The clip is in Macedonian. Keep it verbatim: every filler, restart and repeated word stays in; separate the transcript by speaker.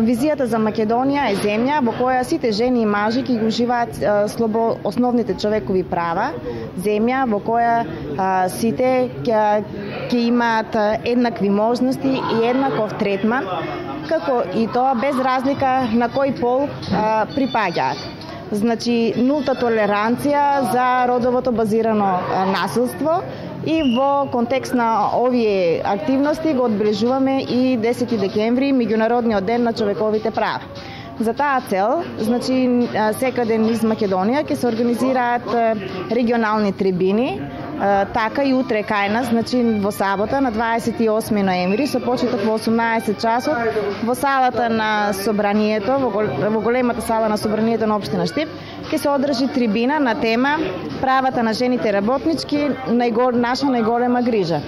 Speaker 1: Визијата за Македонија е земја во која сите жени и мажи ќе го уживаат слобо основните човекови права, земја во која а, сите ќе ќе имаат еднакви можности и еднаков третман, како и тоа без разлика на кој пол а, припаѓаат. Значи, нулта толеранција за родовото базирано а, насилство. И во контекст на овие активности го одбележуваме и десети декември, меѓународниот ден на човековите права. За таа цел, значи, секаде низ Македонија ќе се организираат регионални трибини, така и утре кај нас, значи во сабота на дваесет и осми ноември, со почеток во осумнаесет часот, во салата на Собранието, во големата сала на Собранието на општина Штип, ќе се одржи трибина на тема правата на жените работнички, наша најголема грижа.